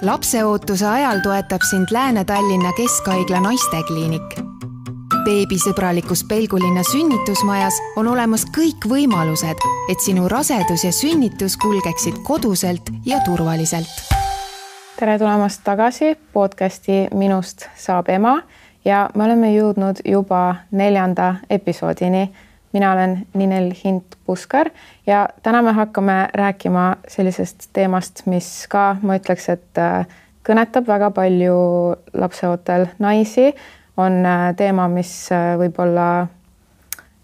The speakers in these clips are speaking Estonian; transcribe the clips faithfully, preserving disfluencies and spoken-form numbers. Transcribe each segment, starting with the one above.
Lapseootuse ajal toetab sind Lääne-Tallinna Keskhaigla naistekliinik. Beebisõbralikus Pelgulinna sünnitusmajas on olemas kõik võimalused, et sinu rasedus ja sünnitus kulgeksid koduselt ja turvaliselt. Tere tulemast tagasi podcasti Minust saab ema ja me oleme jõudnud juba neljanda episoodini. Mina olen Ninel Hint-Puskar ja täna me hakkame rääkima sellisest teemast, mis ka, ma ütleks, et kõnetab väga palju lapseootel naisi. On teema, mis võib-olla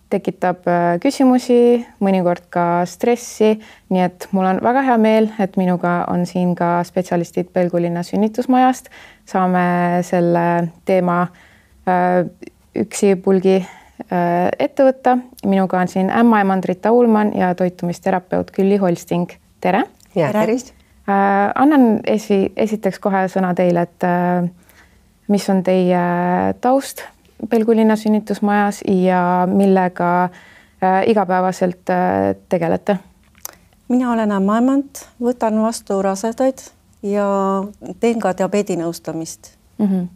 tekitab küsimusi, mõnikord ka stressi. Nii et mul on väga hea meel, et minuga on siin ka spetsialistid Pelgulinna sünnitusmajast. Saame selle teema üksi pulgi ette võtta. Minuga on siin ämmaemand Rita Ullmann ja toitumisterapeut Külli Holsting. Tere! Ja, tervist! Annan esi, esiteks kohe sõna teile, et mis on teie taust Pelgulinna sünnitusmajas ja millega igapäevaselt tegelete? Mina olen ämmaemand, võtan vastu rasedaid ja teen ka diabeedinõustamist. Mm-hmm.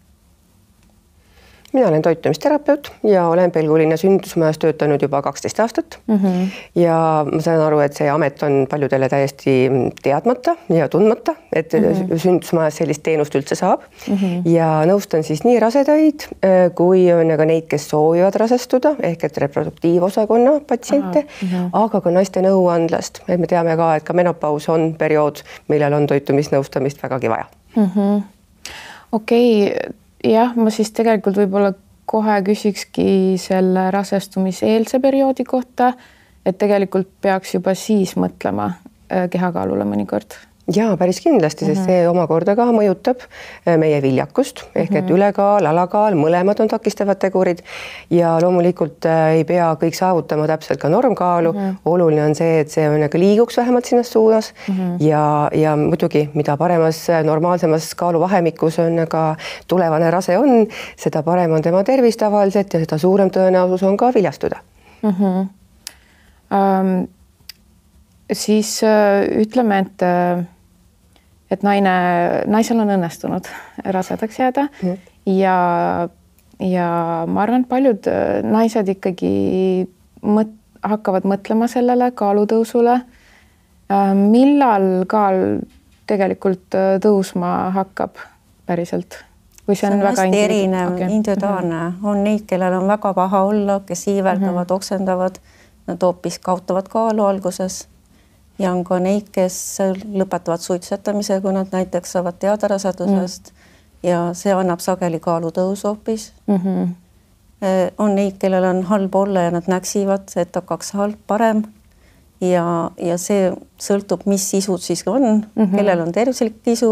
Mina olen toitumisterapeut ja olen Pelgulinna sünnitusmajas töötanud juba kaksteist aastat. Mm-hmm. Ja ma saan aru, et see amet on paljudele täiesti teadmata ja tundmata, et mm-hmm. sünnitusmajas sellist teenust üldse saab. Mm-hmm. Ja nõustan siis nii rasedaid kui on ka neid, kes soovivad rasestuda, ehk et reproduktiivosakonna patsiente, mm-hmm. aga ka naiste nõuandlast. Et me teame ka, et ka menopaus on periood, millel on toitumisnõustamist vägagi vaja. Mm-hmm. Okei, okay. Jah, ma siis tegelikult võib-olla kohe küsikski selle rasestumiseelse perioodi kohta, et tegelikult peaks juba siis mõtlema kehakaalule mõnikord. Jaa, päris kindlasti, sest mm-hmm. see omakorda ka mõjutab meie viljakust, ehk et mm-hmm. ülekaal, alakaal, mõlemad on takistavad tegurid ja loomulikult ei pea kõik saavutama täpselt ka normkaalu. Mm-hmm. Oluline on see, et see on ka liiguks vähemalt sinna suunas mm-hmm. ja, ja muidugi, mida paremas normaalsemas kaaluvahemikus on ka tulevane rase on, seda parem on tema tervis tavaliselt ja seda suurem tõenäosus on ka viljastuda. Mm-hmm. Um, siis uh, ütleme, et uh... et naine, naisel on õnnestunud rasedaks jääda mm. ja, ja ma arvan, et paljud naised ikkagi mõt, hakkavad mõtlema sellele kaalutõusule. Millal kaal tegelikult tõusma hakkab päriselt? Või see on, see on väga hästi erinev, okay. individuaalne. On neid, kellel on väga paha olla, kes iiveldavad, mm-hmm. oksendavad, nad hoopis kaotavad kaalu alguses. Ja on ka neid, kes lõpetavad suitsetamise, kui nad näiteks saavad teada rasedusest mm. ja see annab sageli kaalutõus hoopis. Mm-hmm. On neid, kellel on halb olla ja nad näksivad, et hakkaks halb parem ja, ja see sõltub, mis sisud siis on, mm-hmm. kellel on tervislik isu,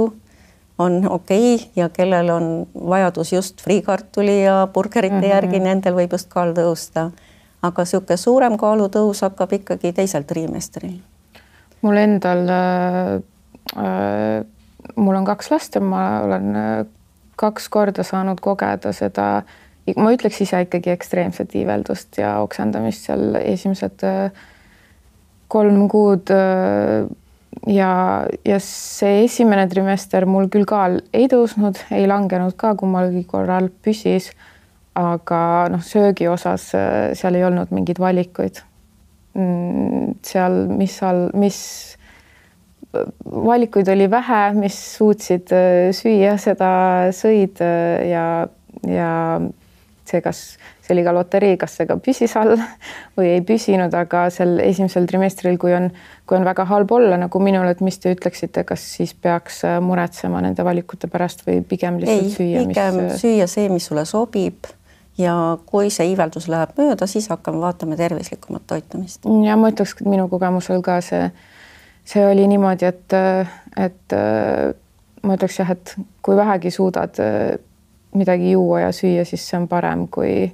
on okei okay, ja kellel on vajadus just friikartuli ja burgerite mm-hmm. järgi, nendel võib just kaal tõusta. Aga siuke suurem kaalutõus hakkab ikkagi teisel trimestril. Mul endal, äh, mul on kaks last ja ma olen kaks korda saanud kogeda seda, ma ütleks ise ikkagi ekstreemset iiveldust ja oksendamist seal esimesed kolm kuud ja, ja see esimene trimester mul küll kaal ei tõusnud, ei langenud ka, kummalgi korral püsis, aga noh, söögi osas seal ei olnud mingeid valikuid. Seal, mis, all, mis valikuid oli vähe, mis suutsid süüa, seda sõid ja, ja see, kas see oli ka loterii, kas see ka püsis all või ei püsinud, aga sel esimesel trimestril, kui on, kui on väga halb olla, nagu minul, et mis te ütleksite, kas siis peaks muretsema nende valikute pärast või pigem lihtsalt ei, süüa? Ei, pigem mis... süüa see, mis sulle sobib. Ja kui see iiveldus läheb mööda, siis hakkame vaatama tervislikumat toitumist. Ja ma ütleks, et minu kogemusel ka see, see oli niimoodi, et, et ma ütleks jah, et kui vähegi suudad midagi juua ja süüa, siis see on parem kui,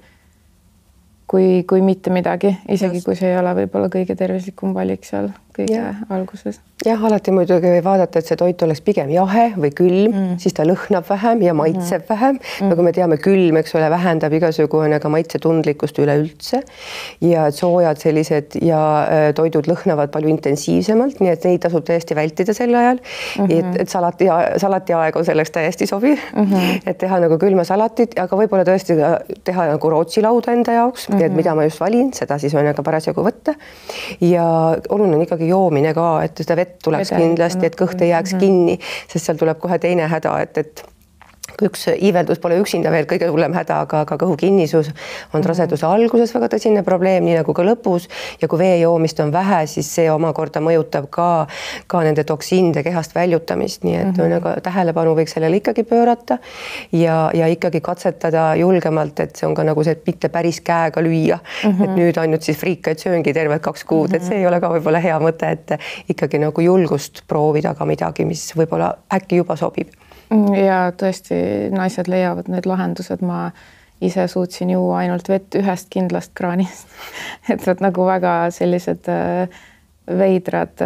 kui, kui mitte midagi, isegi Just. Kui see ei ole võib-olla kõige tervislikum valik seal. kõige ja. alguses. Jah, alati muidugi võib vaadata, et see toit oleks pigem jahe või külm, mm. siis ta lõhnab vähem ja maitseb mm. vähem. Mm. Nagu me teame, külm, eks ole, vähendab igasugune ka maitsetundlikkust üleüldse ja soojad sellised ja toidud lõhnavad palju intensiivsemalt, nii et neid tasub täiesti vältida sel ajal. Mm -hmm. et, et salati, salati aeg on selleks täiesti sobiv, mm -hmm. et teha nagu külma salatit, aga võib-olla tõesti teha nagu Rootsi lauda enda jaoks, mm -hmm. et mida ma just valin, seda siis on aga parasjagu võtta. Ja oluline on ikkagi joomine ka, et seda vett tuleks Vede, kindlasti, et kõht ei jääks mm -hmm. kinni, sest seal tuleb kohe teine häda, et, et üks iiveldus pole üksinda veel kõige hullem häda, aga, aga kõhu kinnisus on raseduse alguses väga tõsine probleem, nii nagu ka lõpus ja kui vee joomist on vähe, siis see omakorda mõjutab ka, ka nende toksiinide kehast väljutamist, nii et mm -hmm. nagu tähelepanu võiks sellele ikkagi pöörata ja, ja ikkagi katsetada julgemalt, et see on ka nagu see, et mitte päris käega lüüa, mm -hmm. et nüüd ainult siis friikaid sööngi tervelt kaks kuud, mm -hmm. et see ei ole ka võib-olla hea mõte, et ikkagi nagu julgust proovida ka midagi, mis võib-olla äkki juba sobib. Ja tõesti naised leiavad need lahendused, ma ise suutsin juua ainult vett ühest kindlast kraanist, et need nagu väga sellised veidrad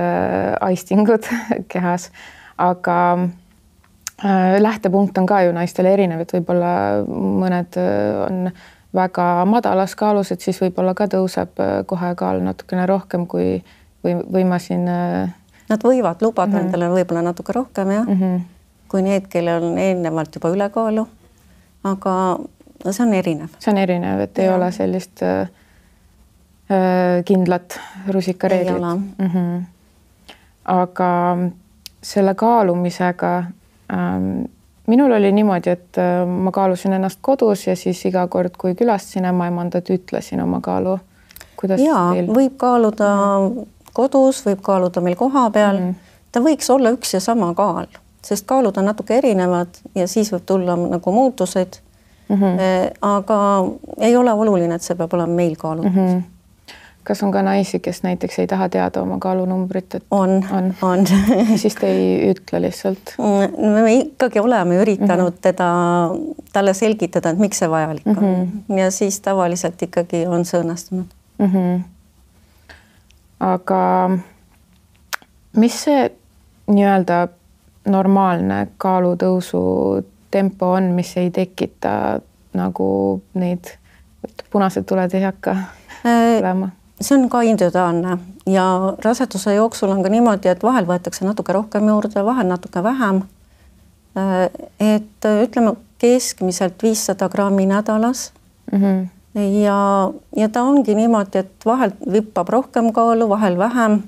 aistingud kehas, aga lähtepunkt on ka ju naistel erinev, et võib-olla mõned on väga madalas kaalus, et siis võib-olla ka tõuseb kohe kaal natukene rohkem kui või, või ma siin. Nad võivad lubada mm -hmm. endale võib-olla natuke rohkem, jah. Mm -hmm. kui need, kellel on eelnevalt juba ülekaalu, aga see on erinev. See on erinev, et ei ja. ole sellist äh, kindlat rusikareeglit. Mm -hmm. aga selle kaalumisega ähm, minul oli niimoodi, et äh, ma kaalusin ennast kodus ja siis iga kord, kui külastasin ämmaemandat, ütlesin oma kaalu. Kuidas ja, teil? Võib kaaluda mm -hmm. kodus, võib kaaluda meil koha peal. Mm -hmm. Ta võiks olla üks ja sama kaal, sest kaalud on natuke erinevad ja siis võib tulla nagu muutused. Mm -hmm. aga ei ole oluline, et see peab olema meil kaalutud. Mm -hmm. Kas on ka naisi, kes näiteks ei taha teada oma kaalunumbrit? Et on, on. on. Siis te ei ütle lihtsalt? Me ikkagi oleme üritanud mm -hmm. teda, talle selgitada, et miks see vajalik on. Mm -hmm. Ja siis tavaliselt ikkagi on see õnnestunud. Mm -hmm. Aga mis see nii-öelda normaalne kaalutõusu tempo on, mis ei tekita nagu neid punased tuled ei hakka tulema? See on ka individuaalne ja raseduse jooksul on ka niimoodi, et vahel võetakse natuke rohkem juurde, vahel natuke vähem. Et ütleme keskmiselt viissada grammi nädalas. Mm -hmm. ja, ja ta ongi niimoodi, et vahel vippab rohkem kaalu, vahel vähem.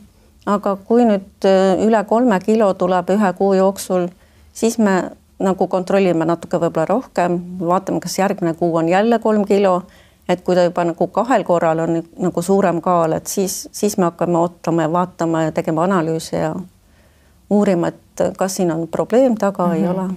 Aga kui nüüd üle kolme kilo tuleb ühe kuu jooksul, siis me nagu kontrollime natuke võib-olla rohkem, vaatame, kas järgmine kuu on jälle kolm kilo, et kui ta juba nagu kahel korral on nagu suurem kaal, et siis, siis me hakkame ootama ja vaatama ja tegema analüüse ja uurima, et kas siin on probleem taga mm -hmm. ei ole.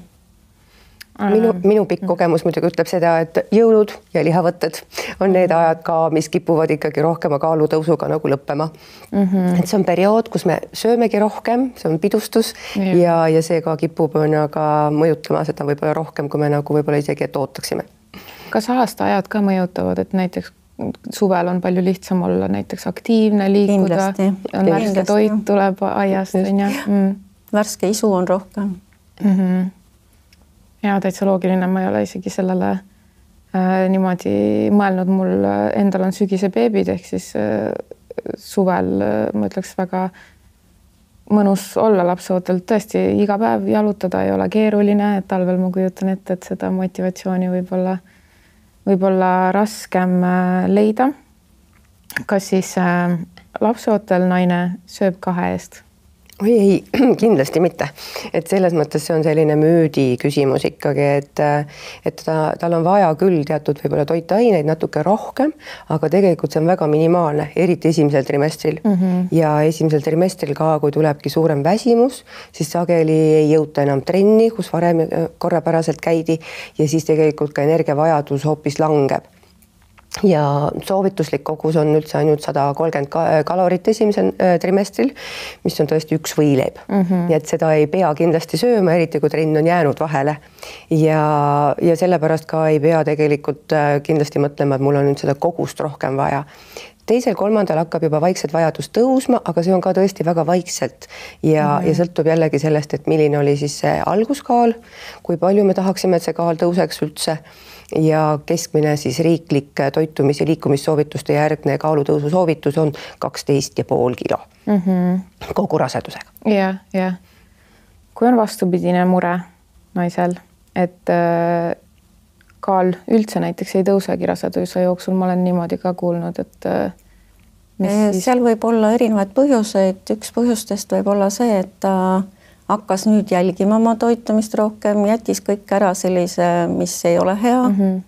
Minu, minu pikk kogemus muidugi ütleb seda, et jõulud ja lihavõtted on need ajad ka, mis kipuvad ikkagi rohkema kaalutõusuga nagu lõppema. Mm -hmm. et see on periood, kus me söömegi rohkem, see on pidustus ja, ja, ja see ka kipub aga mõjutama seda võib-olla rohkem, kui me nagu võib-olla isegi et ootaksime. Kas aastaajad ka mõjutavad, et näiteks suvel on palju lihtsam olla näiteks aktiivne, liikuda, on värske toit tuleb aiast, on ju? Mm. Värske isu on rohkem. Mm -hmm. Ja täitsa loogiline, ma ei ole isegi sellele äh, niimoodi mõelnud, mul endal on sügise beebid, ehk siis äh, suvel äh, ma ütleks väga mõnus olla lapseootel, tõesti iga päev jalutada ei ole keeruline, et talvel ma kujutan ette, et seda motivatsiooni võib-olla võib-olla raskem äh, leida. Kas siis äh, lapseootel naine sööb kahe eest? Oi, ei, kindlasti mitte. Et selles mõttes see on selline müüdi küsimus ikkagi, et, et ta, tal on vaja küll teatud võib-olla toitaineid natuke rohkem, aga tegelikult see on väga minimaalne, eriti esimesel trimestril. Mm -hmm. Ja esimesel trimestril ka, kui tulebki suurem väsimus, siis sageli ei jõuta enam trenni, kus varem korrapäraselt käidi ja siis tegelikult ka energiavajadus hoopis langeb. Ja soovituslik kogus on üldse ainult sada kolmkümmend kalorit esimesel trimestril, mis on tõesti üks võileib. Mm -hmm. Nii et seda ei pea kindlasti sööma, eriti kui trenn on jäänud vahele. Ja, ja sellepärast ka ei pea tegelikult kindlasti mõtlema, et mul on nüüd seda kogust rohkem vaja. teisel-kolmandal hakkab juba vaikselt vajadus tõusma, aga see on ka tõesti väga vaikselt ja mm, -hmm. ja sõltub jällegi sellest, et milline oli siis see alguskaal, kui palju me tahaksime, et see kaal tõuseks üldse ja keskmine siis riiklik toitumis- ja liikumissoovituste järgne kaalutõusu soovitus on kaksteist ja pool kilo mm -hmm. kogu rasedusega. jah, jah. kui on vastupidine mure naisel, et äh, kaal üldse näiteks ei tõusegi raseduse jooksul, ma olen niimoodi ka kuulnud, et äh, mis siis... seal võib olla erinevaid põhjuseid, üks põhjustest võib olla see, et ta hakkas nüüd jälgima oma toitumist rohkem, jättis kõik ära sellise, mis ei ole hea mm. -hmm.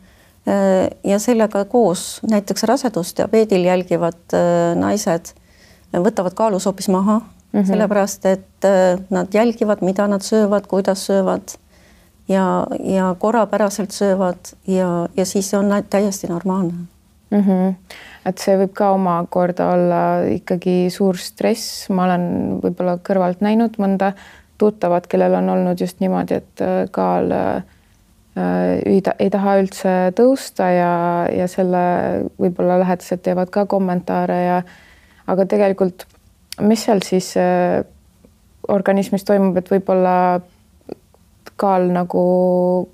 ja sellega koos näiteks rasedusdiabeedil jälgivad naised võtavad kaalus hoopis maha mm, -hmm. sellepärast et nad jälgivad, mida nad söövad, kuidas söövad ja, ja korrapäraselt söövad ja, ja siis on täiesti normaalne mm. -hmm. et see võib ka omakorda olla ikkagi suur stress, ma olen võib-olla kõrvalt näinud mõnda tuttavad, kellel on olnud just niimoodi, et kaal äh, ei, ei taha üldse tõusta ja, ja selle võib-olla lähedased teevad ka kommentaare ja aga tegelikult, mis seal siis äh, organismis toimub, et võib-olla kaal nagu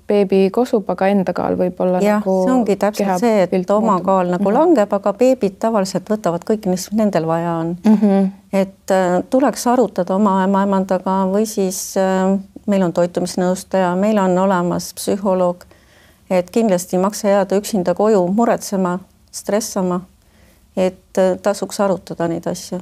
beebi kosub, aga enda kaal võib-olla jah, nagu see ongi täpselt see, et oma muutub. Kaal nagu mm -hmm. langeb, aga beebid tavaliselt võtavad kõik, mis nendel vaja on mm. -hmm. et äh, tuleks arutada oma ämmaemandaga või siis äh, meil on toitumisnõustaja, meil on olemas psühholoog, et kindlasti ei maksa jääda üksinda koju muretsema, stressama, et äh, tasuks arutada neid asju.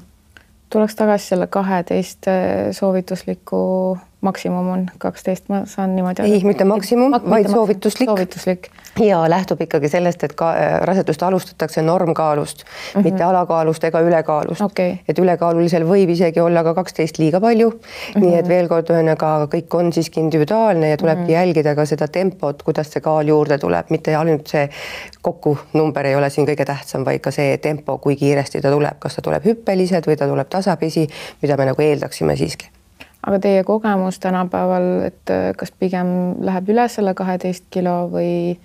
Tuleks tagasi selle kaheteist soovitusliku maksimum on kaksteist, ma saan niimoodi. ei, mitte maksimum, vaid mitte soovituslik. soovituslik. Ja lähtub ikkagi sellest, et ka rasedust alustatakse normkaalust, mm -hmm. mitte alakaalust ega ülekaalust. Okay. Et ülekaalulisel võib isegi olla ka kaksteist liiga palju. Mm -hmm. Nii et veel kord ühesõnaga kõik on siiski individuaalne ja tulebki mm -hmm. jälgida ka seda tempot, kuidas see kaal juurde tuleb, mitte ainult see kokku number ei ole siin kõige tähtsam, vaid ka see tempo, kui kiiresti ta tuleb, kas ta tuleb hüppeliselt või ta tuleb tasapisi, mida me nagu eeldaksime siiski. Aga teie kogemus tänapäeval, et kas pigem läheb üle selle kaheteist kilo või,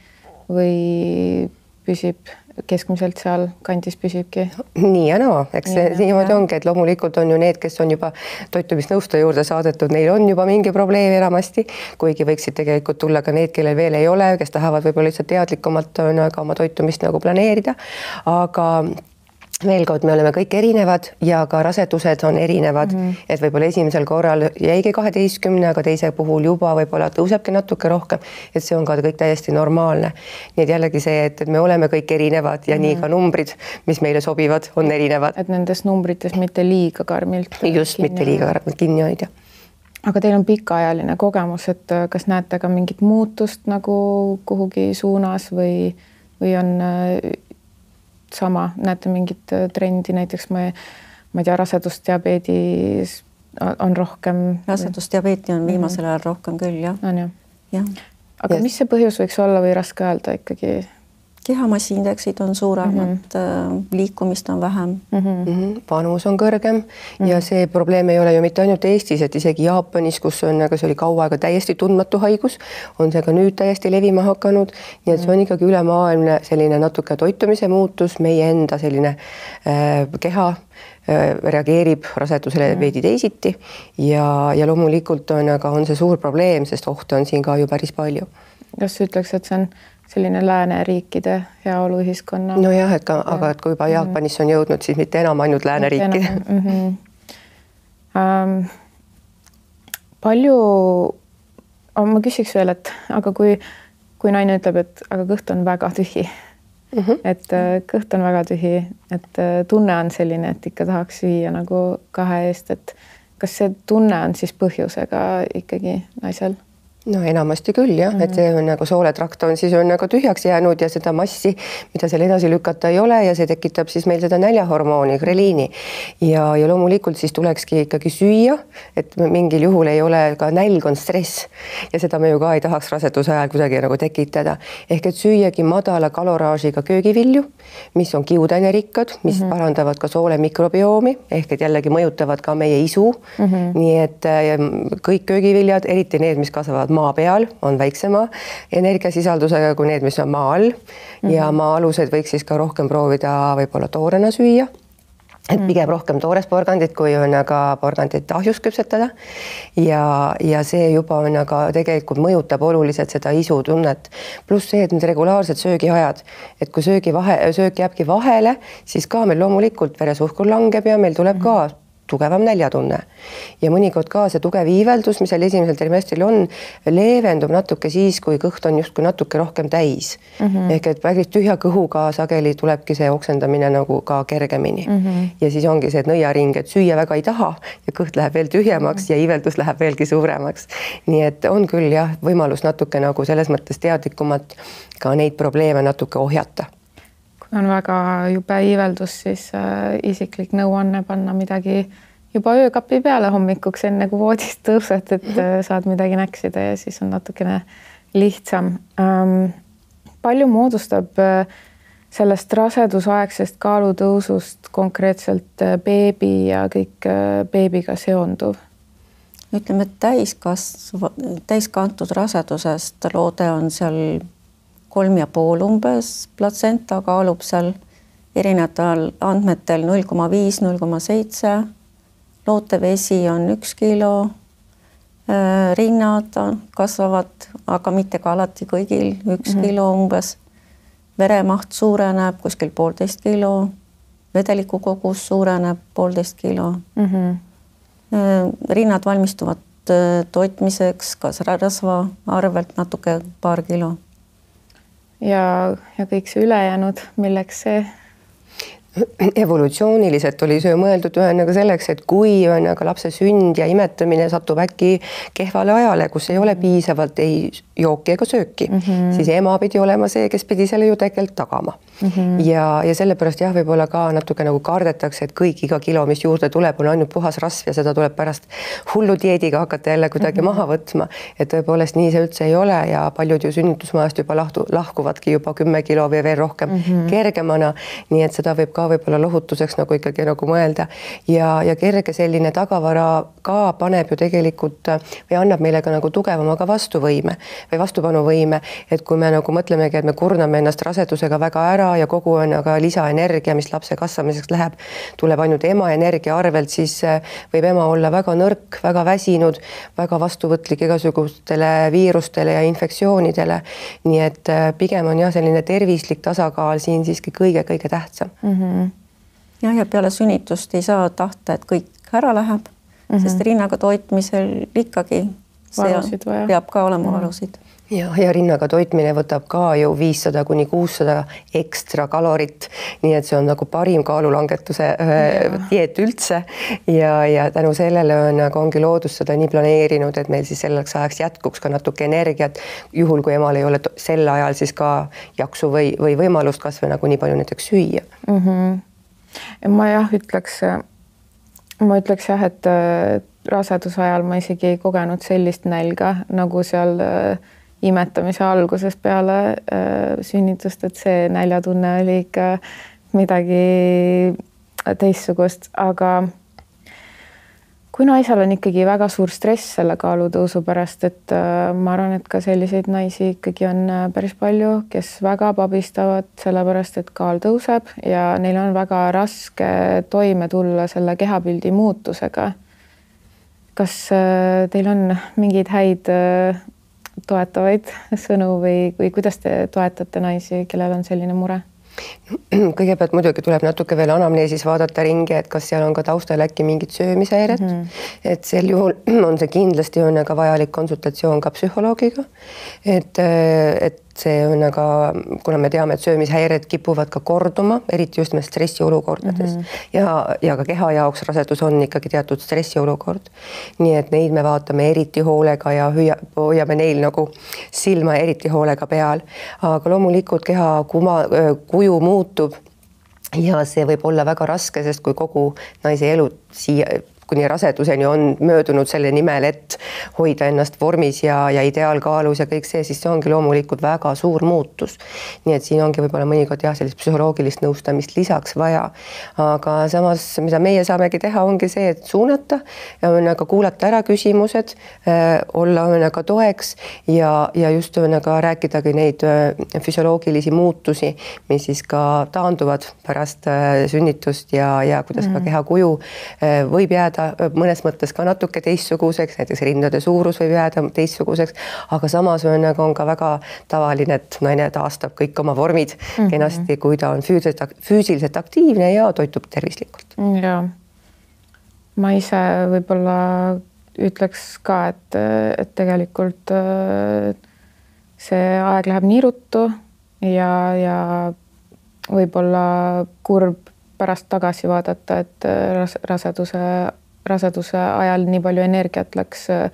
või püsib keskmiselt seal kandis püsibki? Nii ja naa, eks see niimoodi ongi, et loomulikult on ju need, kes on juba toitumisnõustaja juurde saadetud, neil on juba mingi probleem enamasti, kuigi võiksid tegelikult tulla ka need, kellel veel ei ole, kes tahavad võib-olla lihtsalt teadlikumalt ka oma toitumist nagu planeerida, aga veel kord, me oleme kõik erinevad ja ka rasedused on erinevad mm, -hmm. et võib-olla esimesel korral jäigi kaheteistkümne, aga teise puhul juba võib-olla tõusebki natuke rohkem, et see on ka kõik täiesti normaalne. Nii et jällegi see, et, et me oleme kõik erinevad ja mm -hmm. nii ka numbrid, mis meile sobivad, on erinevad. Et nendes numbrites mitte liiga karmilt. Just, kinni. mitte liiga karmilt kinni hoida. Aga teil on pikaajaline kogemus, et kas näete ka mingit muutust nagu kuhugi suunas või, või on sama, näete mingit trendi, näiteks ma, ma ei tea, rasedusdiabeedis on rohkem. Rasedusdiabeeti on viimasel ajal rohkem küll, jah. On ju? Jah. Aga yes. mis see põhjus võiks olla või raske öelda ikkagi? Kehamassiindeksid on suuremad mm, -hmm. liikumist on vähem mm. -hmm. Vanus on kõrgem mm -hmm. ja see probleem ei ole ju mitte ainult Eestis, et isegi Jaapanis, kus on, aga see oli kaua aega täiesti tundmatu haigus, on see ka nüüd täiesti levima hakanud. Nii et see on ikkagi ülemaailmne selline natuke toitumise muutus, meie enda selline äh, keha äh, reageerib rasedusele mm -hmm. veidi teisiti ja, ja loomulikult on, aga on see suur probleem, sest ohte on siin ka ju päris palju. Kas ütleks, et see on selline lääneriikide heaoluühiskonna? Nojah, et ka, aga et kui juba Jaapanisse on jõudnud, siis mitte enam ainult lääneriikide. Mm -hmm. ähm, palju, ma küsiks veel, et aga kui, kui naine ütleb, et aga kõht on väga tühi, mm -hmm. et kõht on väga tühi, et tunne on selline, et ikka tahaks süüa nagu kahe eest, et kas see tunne on siis põhjusega ikkagi naisel? No enamasti küll jah, et see on nagu sooletrakt on siis on nagu tühjaks jäänud ja seda massi, mida seal edasi lükata ei ole ja see tekitab siis meil seda näljahormooni, greliini ja, ja loomulikult siis tulekski ikkagi süüa, et mingil juhul ei ole ka nälg on stress ja seda me ju ka ei tahaks raseduse ajal kuidagi nagu tekitada. Ehk et süüagi madala kaloraažiga köögivilju, mis on kiudainerikad, mis mm -hmm. parandavad ka soole mikrobiomi ehk et jällegi mõjutavad ka meie isu mm. -hmm. nii et kõik köögiviljad, eriti need, mis kasvavad maa peal, on väiksema energiasisaldusega kui need, mis on maa all mm -hmm. ja maa-alused võiks siis ka rohkem proovida võib-olla toorena süüa. Et pigem rohkem toores porgandit, kui on aga porgandit ahjus küpsetada ja, ja see juba on aga tegelikult mõjutab oluliselt seda isutunnet. Pluss see, et need regulaarsed söögiajad, et kui söögi vahe, söök jääbki vahele, siis ka meil loomulikult veresuhkur langeb ja meil tuleb ka tugevam näljatunne. Ja mõnikord ka see tugev iiveldus, mis seal esimesel trimestril on, leevendub natuke siis, kui kõht on justkui natuke rohkem täis. Mm -hmm. Ehk et päris tühja kõhuga sageli tulebki see oksendamine nagu ka kergemini. Mm -hmm. Ja siis ongi see, et nõiaring, et süüa väga ei taha ja kõht läheb veel tühjemaks mm -hmm. ja iiveldus läheb veelgi suuremaks. Nii et on küll jah, võimalus natuke nagu selles mõttes teadlikumalt ka neid probleeme natuke ohjata. On väga jube iiveldus, siis äh, isiklik nõuanne panna midagi juba öökapi peale hommikuks, enne kui voodist tõused, et äh, saad midagi näksida ja siis on natukene lihtsam. Ähm, palju moodustab äh, sellest rasedusaegsest kaalutõusust konkreetselt äh, beebi ja kõik äh, beebiga seonduv? Ütleme, et täiskasv, täiskantud rasedusest loode on seal kolm ja pool umbes, platsenta kaalub seal erinevatel andmetel null koma viis, null koma seitse, lootevesi on üks kilo, rinnad kasvavad, aga mitte ka alati kõigil, üks mm-hmm. kilo umbes, veremaht suureneb kuskil poolteist kilo, vedeliku kogus suureneb poolteist kilo mm. -hmm. rinnad valmistuvad toitmiseks, kas rasva arvelt natuke paar kilo. Ja, ja kõik see ülejäänud, milleks see? Evolutsiooniliselt oli see mõeldud ühendaga selleks, et kui ühendaga lapse sünd ja imetamine satub äkki kehvale ajale, kus ei ole piisavalt ei jooki ega sööki, mm -hmm. siis ema pidi olema see, kes pidi selle ju tegelikult tagama. Mm -hmm. ja, ja sellepärast jah, võib-olla ka natuke nagu kardetakse, et kõik iga kilo, mis juurde tuleb, on ainult puhas rasv ja seda tuleb pärast hullu dieediga hakata jälle kuidagi mm -hmm. maha võtma. Et tõepoolest nii see üldse ei ole ja paljud ju sünnitusmajast juba lahtu, lahkuvadki juba kümme kilo või veel rohkem mm -hmm. kergemana. Nii et seda võib ka võib-olla lohutuseks nagu ikkagi nagu mõelda ja, ja kerge selline tagavara ka paneb ju tegelikult või annab meile ka nagu tugevama ka vastuvõime või vastupanuvõime, et kui me nagu mõtlemegi, et me kurname ennast rasedusega väga ära ja kogu on aga lisaenergia, mis lapse kasvamiseks läheb, tuleb ainult ema energia arvelt, siis võib ema olla väga nõrk, väga väsinud, väga vastuvõtlik igasugustele viirustele ja infektsioonidele. Nii et pigem on jah, selline tervislik tasakaal siin siiski kõige-kõige tähtsam. Mm -hmm. jah, ja peale sünnitust ei saa tahta, et kõik ära läheb, mm -hmm. sest rinnaga toitmisel ikkagi valusid vaja. Peab ka olema mm -hmm. valusid. Ja, ja rinnaga toitmine võtab ka ju viissada kuni kuussada ekstra kalorit, nii et see on nagu parim kaalulangetuse ja. dieet üldse ja, ja tänu sellele on, aga ongi loodus seda nii planeerinud, et meil siis selleks ajaks jätkuks ka natuke energiat, juhul kui emal ei ole sel ajal siis ka jaksu või, või võimalust kas või nagu nii palju näiteks süüa. Mm -hmm. Ja ma jah ütleks, ma ütleks jah, et raseduse ajal ma isegi ei kogenud sellist nälga nagu seal imetamise algusest peale äh, sünnitust, et see näljatunne oli ikka midagi teistsugust, aga kui naisel on ikkagi väga suur stress selle kaalutõusu pärast, et äh, ma arvan, et ka selliseid naisi ikkagi on päris palju, kes väga pabistavad sellepärast, et kaal tõuseb ja neil on väga raske toime tulla selle kehapildi muutusega. Kas äh, teil on mingeid häid äh, toetavaid sõnu või, või kuidas te toetate naisi, kellel on selline mure? Kõigepealt muidugi tuleb natuke veel anamneesis vaadata ringi, et kas seal on ka taustal äkki mingit söömishäiret, mm -hmm. et sel juhul on see kindlasti on aga vajalik konsultatsioon ka psühholoogiga, et, et see on aga, kuna me teame, et söömishäired kipuvad ka korduma, eriti just nimelt stressiolukordades mm -hmm. ja, ja ka keha jaoks rasedus on ikkagi teatud stressiolukord. Nii et neid me vaatame eriti hoolega ja hüüa, hoiame neil nagu silma eriti hoolega peal, aga loomulikult keha kuma, kuju muutub ja see võib olla väga raske, sest kui kogu naise elu siia kuni raseduseni on möödunud selle nimel, et hoida ennast vormis ja, ja ideaalkaalus ja kõik see, siis see ongi loomulikult väga suur muutus. Nii et siin ongi võib-olla mõnikord jah, sellist psühholoogilist nõustamist lisaks vaja. Aga samas, mida meie saamegi teha, ongi see, et suunata ja ka kuulata ära küsimused, olla ka toeks ja, ja just ka rääkidagi neid füsioloogilisi muutusi, mis siis ka taanduvad pärast sünnitust ja, ja kuidas mm. ka kehakuju võib jääda mõnes mõttes ka natuke teistsuguseks, näiteks rindade suurus võib jääda teistsuguseks, aga samas on, on ka väga tavaline, et naine taastab kõik oma vormid mm-hmm. kenasti, kui ta on füüsiliselt, füüsiliselt aktiivne ja toitub tervislikult. Ja ma ise võib-olla ütleks ka, et, et tegelikult see aeg läheb nii ruttu ja, ja võib-olla kurb pärast tagasi vaadata, et raseduse, raseduse ajal nii palju energiat läks äh,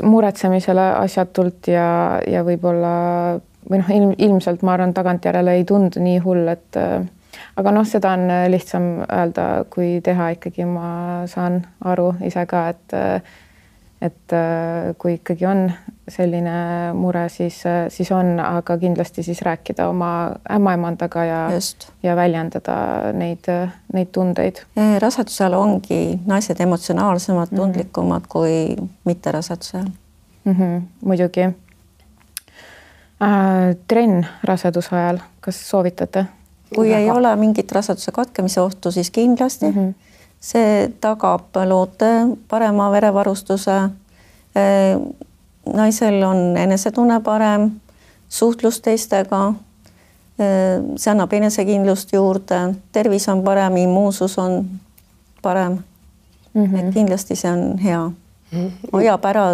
muretsemisele asjatult ja, ja võib-olla või noh, ilm, ilmselt ma arvan, tagantjärele ei tundu nii hull, et äh, aga noh, seda on lihtsam öelda, kui teha ikkagi, ma saan aru ise ka, et äh, et kui ikkagi on selline mure, siis, siis on, aga kindlasti siis rääkida oma ämmaemandaga ja, ja väljendada neid, neid tundeid. Rasedusel ongi naised emotsionaalsemad, tundlikumad mm-hmm. kui mitte rasedusel. Mm-hmm, muidugi. Äh, trenn raseduse ajal, kas soovitate? Kui ei ole mingit raseduse katkemise ohtu, siis kindlasti. Mm-hmm. See tagab loote parema verevarustuse. Naisel on enesetunne parem, suhtlus teistega, see annab enesekindlust juurde, tervis on parem, immuunsus on parem. Mm-hmm. Et kindlasti see on hea. Hoiab ära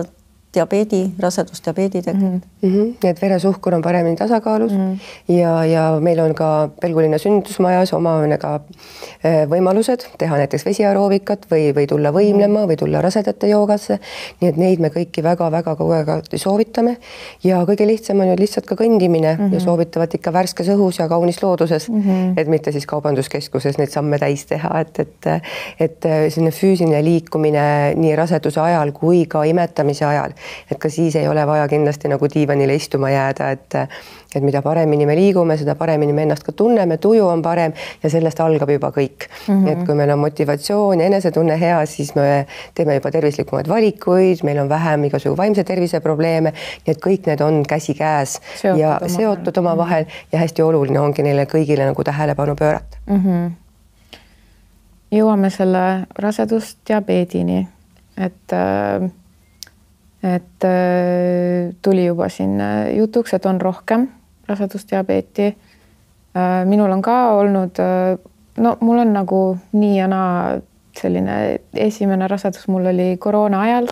diabeedi, rasedusdiabeedi tegelikult. Mm-hmm. Et veresuhkur on paremini tasakaalus mm-hmm. ja, ja meil on ka Pelgulinna sünnitusmajas oma ka võimalused teha näiteks vesiaroovikat või, või tulla võimlema või tulla rasedate joogasse. Nii et neid me kõiki väga-väga kogu aeg soovitame ja kõige lihtsam on ju lihtsalt ka kõndimine mm-hmm. ja soovitavad ikka värskes õhus ja kaunis looduses, mm-hmm. et mitte siis kaubanduskeskuses neid samme täis teha, et, et, et selline füüsiline liikumine nii raseduse ajal kui ka imetamise ajal. Et ka siis ei ole vaja kindlasti nagu diivanile istuma jääda, et, et mida paremini me liigume, seda paremini me ennast ka tunneme, tuju on parem ja sellest algab juba kõik. Mm-hmm. Et kui meil on motivatsioon ja enesetunne hea, siis me teeme juba tervislikumaid valikuid, meil on vähem igasugu vaimse tervise probleeme, nii et kõik need on käsi käes seotud ja oma seotud oma vahel ja hästi oluline ongi neile kõigile nagu tähelepanu pöörata. Mm-hmm. Jõuame selle rasedusdiabeedini, et et tuli juba siin jutuks, et on rohkem rasedusdiabeeti. Minul on ka olnud, no mul on nagu nii ja naa selline esimene rasedus mul oli koroona ajal,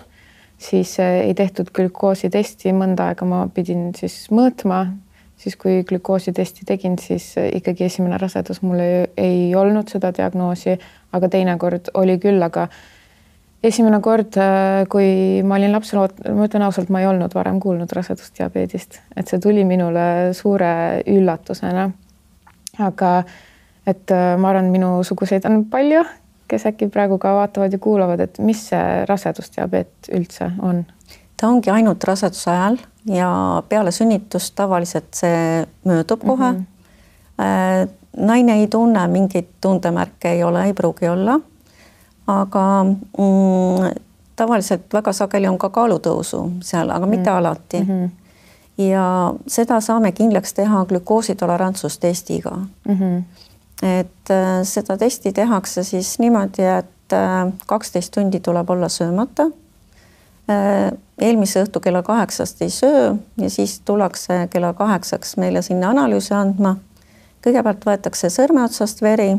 siis ei tehtud glükoositesti, mõnda aega ma pidin siis mõõtma, siis kui glükoositesti tegin, siis ikkagi esimene rasedus mul ei, ei olnud seda diagnoosi, aga teine kord oli küll, aga esimene kord, kui ma olin lapsel, ma ütlen ausalt, ma ei olnud varem kuulnud rasedusdiabeedist, et see tuli minule suure üllatusena. Aga et ma arvan, minu suguseid on palju, kes äkki praegu ka vaatavad ja kuulavad, et mis see rasedusdiabeet üldse on? Ta ongi ainult raseduse ajal ja peale sünnitust tavaliselt see möödub kohe. Mm-hmm. Naine ei tunne, mingit tundemärke ei ole, ei pruugi olla. Aga mm, tavaliselt väga sageli on ka kaalutõusu seal, aga mitte mm. alati. Mm-hmm. Ja seda saame kindlaks teha glükoositolerantsustestiga. Mm-hmm. Et äh, seda testi tehakse siis niimoodi, et äh, kaksteist tundi tuleb olla söömata. Äh, eelmise õhtu kella kaheksast ei söö ja siis tullakse kella kaheksaks meile sinna analüüsi andma. Kõigepealt võetakse sõrme otsast veri.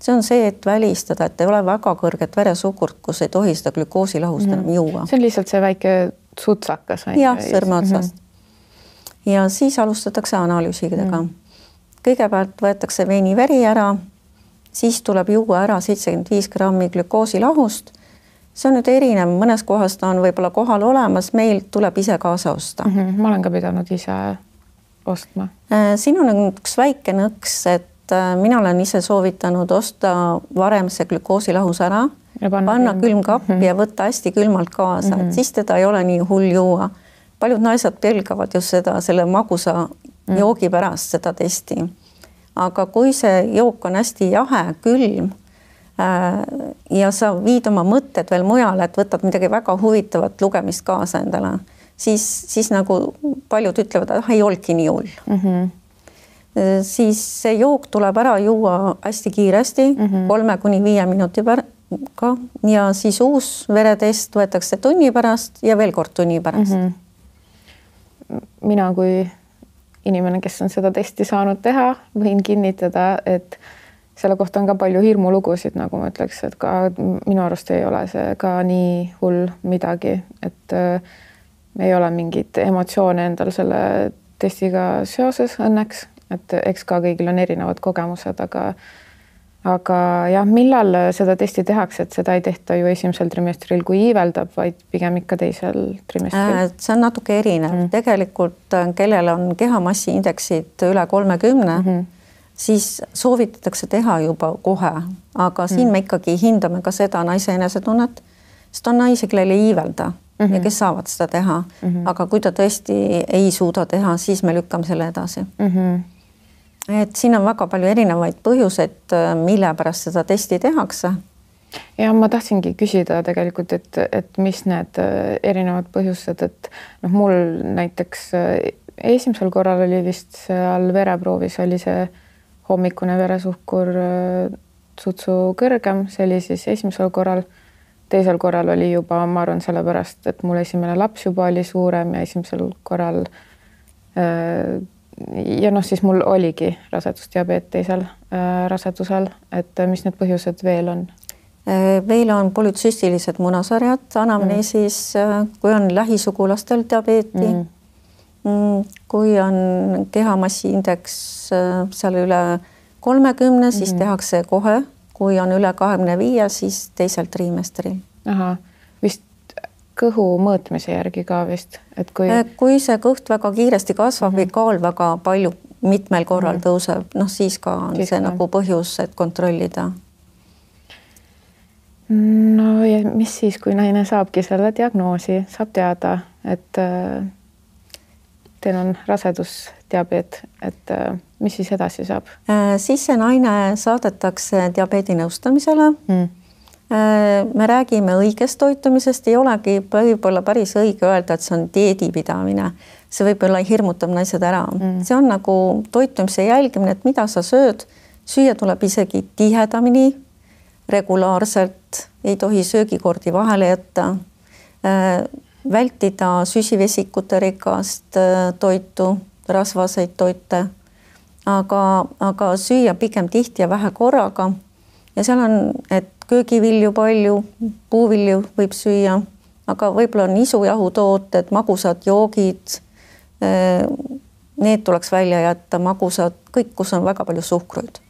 See on see, et välistada, et ei ole väga kõrget veresuhkurt, kus ei tohi seda glükoosilahust enam mm-hmm. juua. See on lihtsalt see väike sutsakas. Jah, sõrme otsast. Mm-hmm. Ja siis alustatakse analüüsidega. Mm-hmm. Kõigepealt võetakse veini veri ära, siis tuleb juua ära seitsekümmend viis grammi glükoosilahust. See on nüüd erinev, mõnes kohas ta on võib-olla kohal olemas, meil tuleb ise kaasa osta. Mm-hmm. Ma olen ka pidanud ise ostma. Siin on üks väike nõks, et mina olen ise soovitanud osta varem see glükoosilahus ära, ja panna, panna külmkappi mm -hmm. ja võtta hästi külmalt kaasa, mm -hmm. et siis teda ei ole nii hull juua. Paljud naised pelgavad just seda, selle magusa mm -hmm. joogi pärast seda testi. Aga kui see jook on hästi jahe, külm äh, ja sa viid oma mõtted veel mujale, et võtad midagi väga huvitavat lugemist kaasa endale, siis, siis nagu paljud ütlevad, et ah, ei olnudki nii hull mm. -hmm. siis see jook tuleb ära juua hästi kiiresti mm, -hmm. kolme kuni viie minuti pärast ka ja siis uus veretest võetakse tunni pärast ja veel kord tunni pärast mm. -hmm. mina kui inimene, kes on seda testi saanud teha, võin kinnitada, et selle kohta on ka palju hirmulugusid, nagu ma ütleks, et ka minu arust ei ole see ka nii hull midagi, et äh, ei ole mingit emotsioone endal selle testiga seoses õnneks, et eks ka kõigil on erinevad kogemused, aga aga jah, millal seda testi tehakse, et seda ei tehta ju esimesel trimestril, kui iiveldab, vaid pigem ikka teisel trimestril? See on natuke erinev. Mm. Tegelikult, kellel on kehamassiindeksid üle kolmekümne, mm -hmm. siis soovitatakse teha juba kohe, aga siin mm. me ikkagi hindame ka seda naise enesetunnet, sest on naisi, kellel ei iivelda mm -hmm. ja kes saavad seda teha. Mm -hmm. aga kui ta tõesti ei suuda teha, siis me lükkame selle edasi. Mm -hmm. et siin on väga palju erinevaid põhjuseid, mille pärast seda testi tehakse. Ja ma tahtsingi küsida tegelikult, et, et mis need erinevad põhjused, et noh, mul näiteks esimesel korral oli vist seal vereproovis oli see hommikune veresuhkur sutsu kõrgem, see oli siis esimesel korral. Teisel korral oli juba, ma arvan, sellepärast, et mul esimene laps juba oli suurem ja esimesel korral ja noh, siis mul oligi rasedusdiabeet teisel rasedusel, et mis need põhjused veel on? Veel on polütsüstilised munasarjad anamneesis, mm. kui on lähisugulastel diabeeti, mm. kui on kehamassiindeks seal üle kolmekümne, siis mm. tehakse kohe, kui on üle kahekümne viie, siis teisel trimestril. Aha, vist kõhu mõõtmise järgi ka vist, et kui kui see kõht väga kiiresti kasvab mm -hmm. või kaal väga palju mitmel korral mm -hmm. tõuseb, noh siis ka on siis see ka. Nagu põhjus, et kontrollida. No ja mis siis, kui naine saabki selle diagnoosi, saab teada, et äh, teil on rasedusdiabeet, et äh, mis siis edasi saab? Äh, siis see naine saadetakse diabeedinõustamisele mm. Me räägime õigest toitumisest, ei olegi võib-olla päris õige öelda, et see on dieedipidamine. See võib-olla hirmutab naised ära. Mm. See on nagu toitumise jälgimine, et mida sa sööd. Süüa tuleb isegi tihedamini, regulaarselt, ei tohi söögikordi vahele jätta. Vältida süsivesikute rikast toitu, rasvaseid toite, aga, aga süüa pigem tihti ja vähe korraga. Ja seal on, et köögivilju palju, puuvilju võib süüa, aga võib-olla nisujahutooted, magusad joogid, need tuleks välja jätta, magusad, kõik, kus on väga palju suhkruid.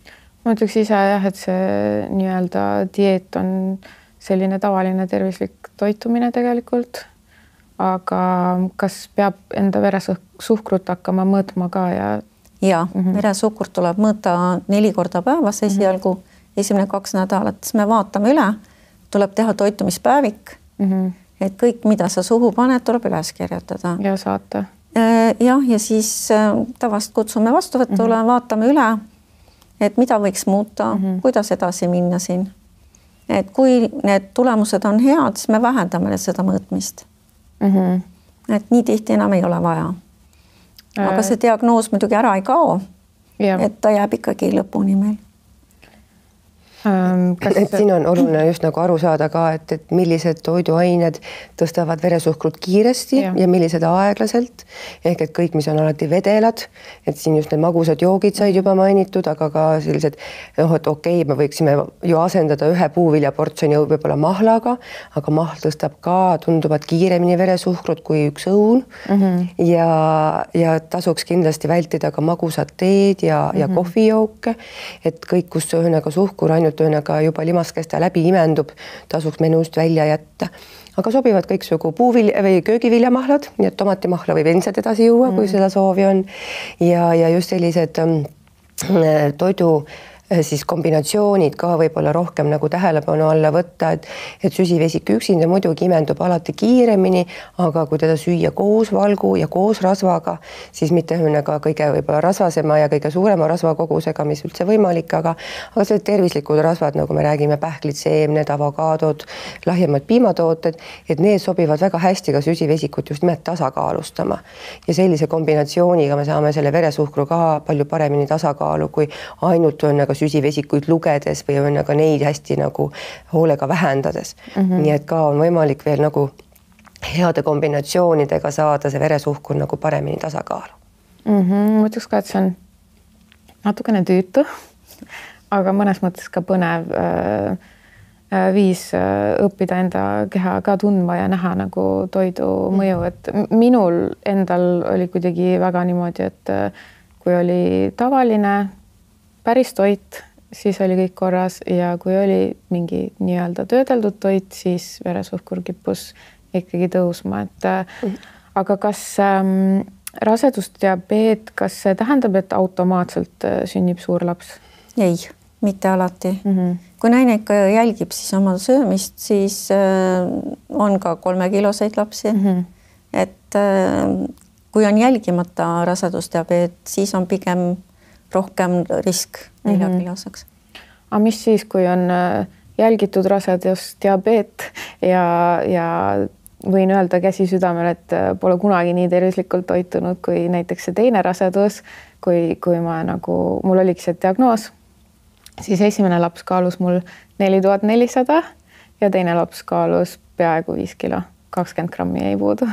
Ma ütleks ise jah, et see nii-öelda dieet on selline tavaline tervislik toitumine tegelikult, aga kas peab enda veresuhkrut hakkama mõõtma ka ja? Ja, mm -hmm. veresuhkrut tuleb mõõta neli korda päevas esialgu, mm -hmm. esimene kaks nädalat, siis me vaatame üle, tuleb teha toitumispäevik, mm -hmm. et kõik, mida sa suhu paned, tuleb üles kirjutada. Ja saata. Jah, ja siis tavast kutsume vastuvõtule, mm -hmm. vaatame üle, et mida võiks muuta, mm -hmm. kuidas edasi minna siin. Et kui need tulemused on head, siis me vähendame seda mõõtmist. Mm -hmm. Et nii tihti enam ei ole vaja. Aga see diagnoos muidugi ära ei kao, ja. Et ta jääb ikkagi lõpuni meil. Kas... Et siin on oluline just nagu aru saada ka, et, et millised toiduained tõstavad veresuhkrut kiiresti ja, ja millised aeglaselt. Ehk et kõik, mis on alati vedelad, et siin just need magusad joogid said juba mainitud, aga ka sellised, noh, et okei, okay, me võiksime ju asendada ühe puuviljaportsjoni võib-olla mahlaga, aga mahl tõstab ka tunduvalt kiiremini veresuhkrut kui üks õun. Mm -hmm. ja, ja tasuks kindlasti vältida ka magusat teed ja, ja mm -hmm. kohvijooke, et kõik, kus ühesõnaga suhkur ainult ühesõnaga juba limaskeste läbi imendub, tasuks menust välja jätta. Aga sobivad kõiksugu puuvilja või köögiviljamahlad, nii et tomatimahla võib endiselt edasi juua, kui mm. seda soovi on. Ja, ja just sellised toidu siis kombinatsioonid ka võib-olla rohkem nagu tähelepanu alla võtta, et, et süsivesik üksinda muidugi imendub alati kiiremini, aga kui teda süüa koos valgu ja koos rasvaga, siis mitte ka kõige võib-olla rasvasema ja kõige suurema rasvakogusega, mis üldse võimalik, aga, aga see tervislikud rasvad, nagu me räägime, pähklid, seemned, avokaadod, lahjemad piimatooted, et need sobivad väga hästi ka süsivesikut just nimelt tasakaalustama. Ja sellise kombinatsiooniga me saame selle veresuhkru ka palju paremini tasakaalu, kui ainult on nagu süsivesikuid lugedes või on aga neid hästi nagu hoolega vähendades. Mm -hmm. Nii et ka on võimalik veel nagu heade kombinatsioonidega saada see veresuhkur nagu paremini tasakaalu. Mm -hmm. Ma ütleks ka, et see on natukene tüütu, aga mõnes mõttes ka põnev äh, viis õppida enda keha ka tundma ja näha nagu toidu mõju, et minul endal oli kuidagi väga niimoodi, et kui oli tavaline päris toit, siis oli kõik korras ja kui oli mingi nii-öelda töödeldud toit, siis veresuhkur kippus ikkagi tõusma, et mm. aga kas ähm, rasedusdiabeet, kas see tähendab, et automaatselt sünnib suur laps? Ei, mitte alati. Mm -hmm. Kui naine ikka jälgib siis oma söömist, siis äh, on ka kolmekiloseid lapsi. Mm -hmm. Et äh, kui on jälgimata rasedusdiabeet, siis on pigem rohkem risk neljakiloseks. Aga mis siis, kui on jälgitud rasedusdiabeet ja, ja võin öelda käsi südamel, et pole kunagi nii tervislikult toitunud kui näiteks see teine rasedus, kui, kui ma nagu, mul oligi see diagnoos, siis esimene laps kaalus mul neli tuhat nelisada ja teine laps kaalus peaaegu viis kilo. kakskümmend grammi ei puudu.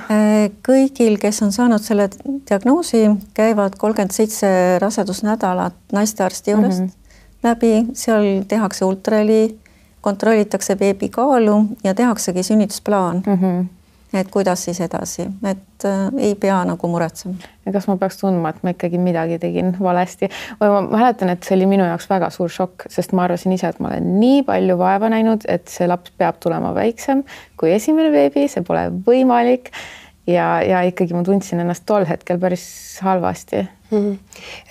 Kõigil, kes on saanud selle diagnoosi, käivad kolmkümmend seitse rasedusnädalat naistearsti juurest mm -hmm. läbi, seal tehakse ultraheli, kontrollitakse beebi kaalu ja tehaksegi sünnitusplaan. Mm -hmm. Et kuidas siis edasi, et äh, ei pea nagu muretsema. Ja kas ma peaks tundma, et ma ikkagi midagi tegin valesti? Või ma mäletan, et see oli minu jaoks väga suur šokk, sest ma arvasin ise, et ma olen nii palju vaeva näinud, et see laps peab tulema väiksem kui esimene beebi, see pole võimalik. Ja, ja ikkagi ma tundsin ennast tol hetkel päris halvasti. Mm -hmm.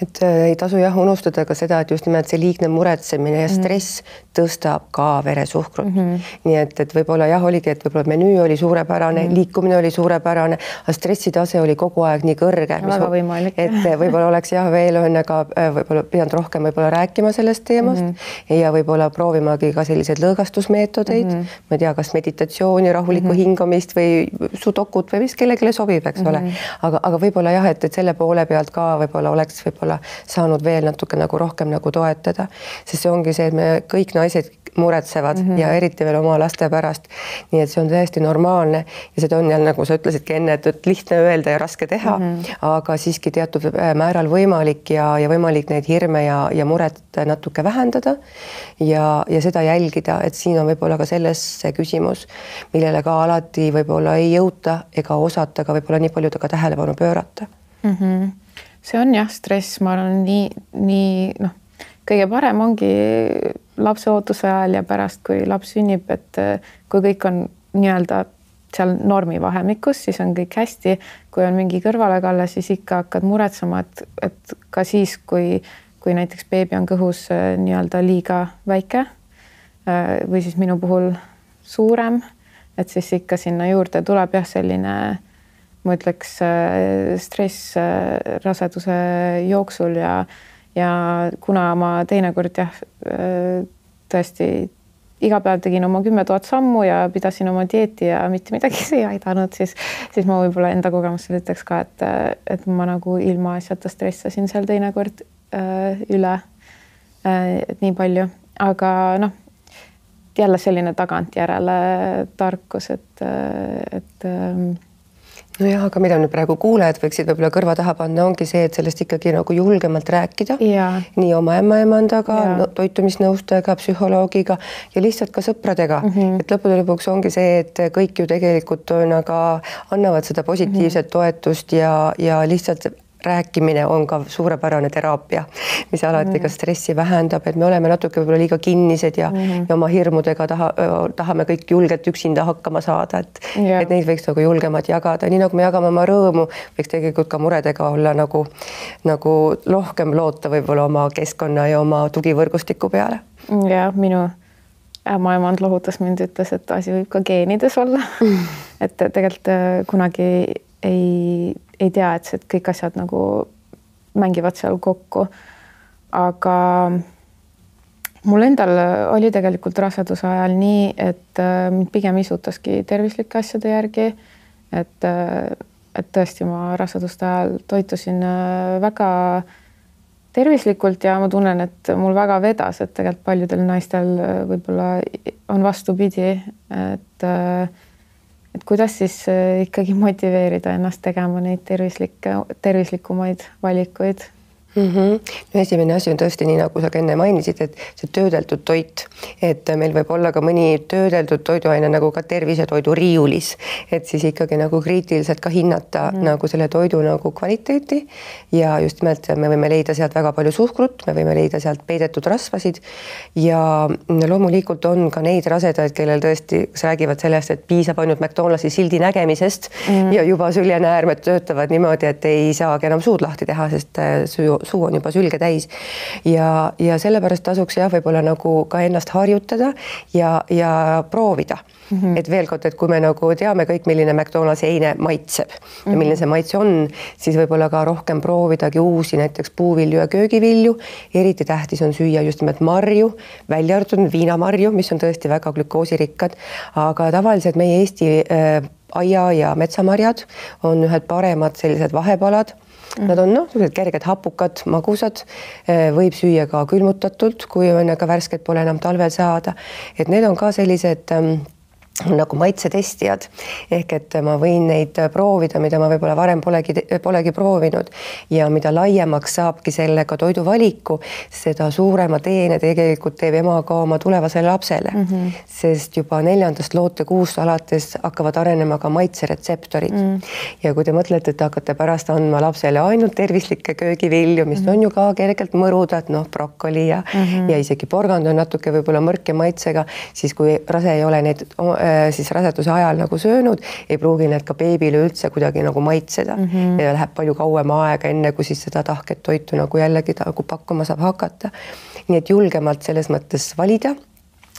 Et äh, ei tasu jah unustada ka seda, et just nimelt see liigne muretsemine ja stress mm -hmm. tõstab ka veresuhkrut. Mm -hmm. Nii et, et võib-olla jah, oligi, et võib-olla menüü oli suurepärane, mm -hmm. liikumine oli suurepärane, aga stressitase oli kogu aeg nii kõrge. Väga võimalik. Et võib-olla oleks jah veel on aga võib-olla pidanud rohkem võib-olla rääkima sellest teemast mm -hmm. ja võib-olla proovimagi ka selliseid lõõgastusmeetodeid. Mm -hmm. Ma ei tea, kas meditatsiooni, rahulikku mm -hmm. hingamist või sudokut või mis kellelegi sobib, eks mm -hmm. ole. Aga, aga võib-olla jah, et, et selle poole pealt ka võib-olla oleks võib-olla saanud veel natuke nagu rohkem nagu toetada, sest see ongi see, et me kõik naised muretsevad mm -hmm. ja eriti veel oma laste pärast. Nii et see on täiesti normaalne ja seda on jälle, nagu sa ütlesidki enne, et lihtne öelda ja raske teha, mm -hmm. aga siiski teatud määral võimalik ja, ja võimalik neid hirme ja, ja muret natuke vähendada ja, ja seda jälgida, et siin on võib-olla ka selles see küsimus, millele ka alati võib-olla ei jõuta ega osata ka võib-olla nii palju ka tähelepanu pöörata. Mm -hmm. See on jah, stress, ma arvan, nii, nii noh, kõige parem ongi lapse ootuse ajal ja pärast, kui laps sünnib, et kui kõik on nii-öelda seal normi vahemikus, siis on kõik hästi. Kui on mingi kõrvalekalle, siis ikka hakkad muretsema, et, et ka siis, kui, kui näiteks beebi on kõhus nii-öelda liiga väike või siis minu puhul suurem, et siis ikka sinna juurde tuleb jah, selline ma ütleks stress raseduse jooksul ja, ja kuna ma teinekord jah, tõesti iga päev tegin oma kümme tuhat sammu ja pidasin oma dieeti ja mitte midagi see ei aidanud, siis, siis ma võib-olla enda kogemusel ütleks ka, et, et ma nagu ilma asjata stressasin seal teinekord üle et nii palju, aga noh, jälle selline tagantjärele tarkus, et, et nojah, aga mida nüüd praegu kuulajad võiksid võib-olla kõrva taha panna, ongi see, et sellest ikkagi nagu julgemalt rääkida. Ja. Nii oma ämmaemandaga, no, toitumisnõustajaga, psühholoogiga ja lihtsalt ka sõpradega. Mm -hmm. Et lõppude lõpuks ongi see, et kõik ju tegelikult on, aga annavad seda positiivset mm -hmm. toetust ja, ja lihtsalt rääkimine on ka suurepärane teraapia, mis alati mm. ka stressi vähendab, et me oleme natuke võib-olla liiga kinnised ja, mm. ja oma hirmudega taha, tahame kõik julgelt üksinda hakkama saada, et, yeah. et neid võiks nagu julgemalt jagada, nii nagu me jagame oma rõõmu, võiks tegelikult ka muredega olla nagu, nagu rohkem loota võib-olla oma keskkonna ja oma tugivõrgustiku peale. Ja minu ämmaemand lohutas mind, ütles, et asi võib ka geenides olla, mm. et tegelikult kunagi ei ei tea, et see, et kõik asjad nagu mängivad seal kokku. Aga mul endal oli tegelikult raseduse ajal nii, et mind pigem isutaski tervislike asjade järgi, et, et tõesti ma raseduste ajal toitusin väga tervislikult ja ma tunnen, et mul väga vedas, et tegelikult paljudel naistel võib-olla on vastupidi, et et kuidas siis ikkagi motiveerida ennast tegema neid tervislikke, tervislikumaid valikuid? Mm-hmm. No esimene asi on tõesti nii, nagu sa ka enne mainisid, et see töödeldud toit, et meil võib olla ka mõni töödeldud toiduaine nagu ka tervisetoidu riiulis, et siis ikkagi nagu kriitiliselt ka hinnata mm. nagu selle toidu nagu kvaliteeti ja just nimelt me võime leida sealt väga palju suhkrut, me võime leida sealt peidetud rasvasid ja loomulikult on ka neid rasedaid, kellel tõesti räägivad sellest, et piisab ainult McDonaldsi sildi nägemisest mm. ja juba süljenäärmed töötavad niimoodi, et ei saagi enam suud lahti teha, sest süü suu on juba sülge täis ja, ja sellepärast tasuks jah, võib-olla nagu ka ennast harjutada ja, ja proovida. Mm-hmm. Et veel kord, et kui me nagu teame kõik, milline McDonaldsi eine maitseb mm-hmm. ja milline see maitse on, siis võib-olla ka rohkem proovidagi uusi näiteks puuvilju ja köögivilju. Eriti tähtis on süüa just nimelt marju, välja arvatud viinamarju, mis on tõesti väga glükoosirikkad, aga tavaliselt meie Eesti äh, aia- ja metsamarjad on ühed paremad sellised vahepalad. Nad on noh, kerged hapukad, magusad, võib süüa ka külmutatult, kui on ka värsket pole enam talvel saada. Et need on ka sellised nagu maitsetestijad, ehk et ma võin neid proovida, mida ma võib-olla varem polegi, polegi proovinud ja mida laiemaks saabki sellega toiduvaliku, seda suurema teene tegelikult teeb ema ka oma tulevasele lapsele, mm-hmm. sest juba neljandast lootekuust alates hakkavad arenema ka maitseretseptorid mm. ja kui te mõtlete, et hakkate pärast andma lapsele ainult tervislikke köögivilju, mis mm-hmm. on ju ka kergelt mõrudad, noh, brokoli ja, mm-hmm. ja isegi porgand on natuke võib-olla mõrke maitsega, siis kui rase ei ole neid siis raseduse ajal nagu söönud, ei pruugi need ka beebile üldse kuidagi nagu maitseda mm-hmm. ja läheb palju kauem aega, enne kui siis seda tahket toitu nagu jällegi nagu pakkuma saab hakata. Nii et julgemalt selles mõttes valida,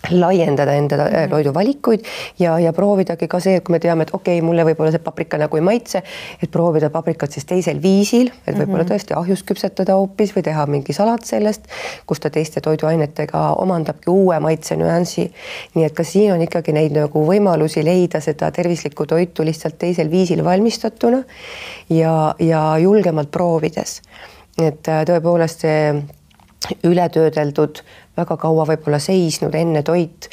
laiendada enda toiduvalikuid ja, ja proovidagi ka see, et kui me teame, et okei, okay, mulle võib-olla see paprika nagu ei maitse, et proovida paprikat siis teisel viisil, et võib-olla tõesti ahjus küpsetada hoopis või teha mingi salat sellest, kus ta teiste toiduainetega omandabki uue maitse nüansi. Nii et ka siin on ikkagi neid nagu võimalusi leida seda tervislikku toitu lihtsalt teisel viisil valmistatuna ja, ja julgemalt proovides. Et tõepoolest see ületöödeldud, väga kaua võib-olla seisnud enne toit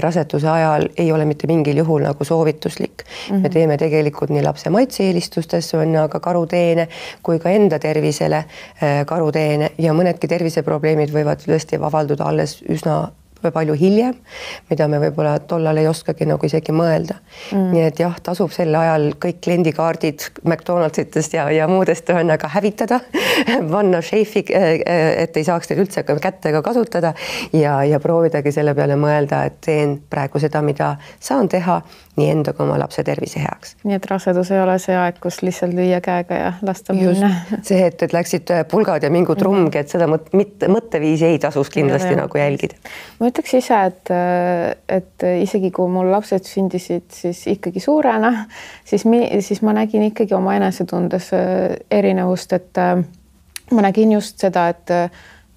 raseduse ajal ei ole mitte mingil juhul nagu soovituslik. Mm-hmm. Me teeme tegelikult nii lapse maitse-eelistustes on aga karuteene kui ka enda tervisele karuteene ja mõnedki terviseprobleemid võivad tõesti avalduda alles üsna palju hiljem, mida me võib-olla tollal ei oskagi nagu isegi mõelda. Mm. Nii et jah, tasub sel ajal kõik kliendikaardid McDonaldsitest ja, ja muudest ühendaga hävitada, panna šeifi, et ei saaks teid üldse kättega kasutada ja, ja proovidagi selle peale mõelda, et teen praegu seda, mida saan teha nii enda kui oma lapse tervise heaks. Nii et rasedus ei ole see aeg, kus lihtsalt lüüa käega ja lasta minna. See, et, et läksid pulgad ja mingu trumgi, et seda mõt, mõtteviisi ei tasus kindlasti ja, nagu jälgida. Ma ütleks ise, et, et isegi kui mul lapsed sündisid siis ikkagi suurena, siis, mi, siis ma nägin ikkagi oma enesetundes erinevust, et ma nägin just seda, et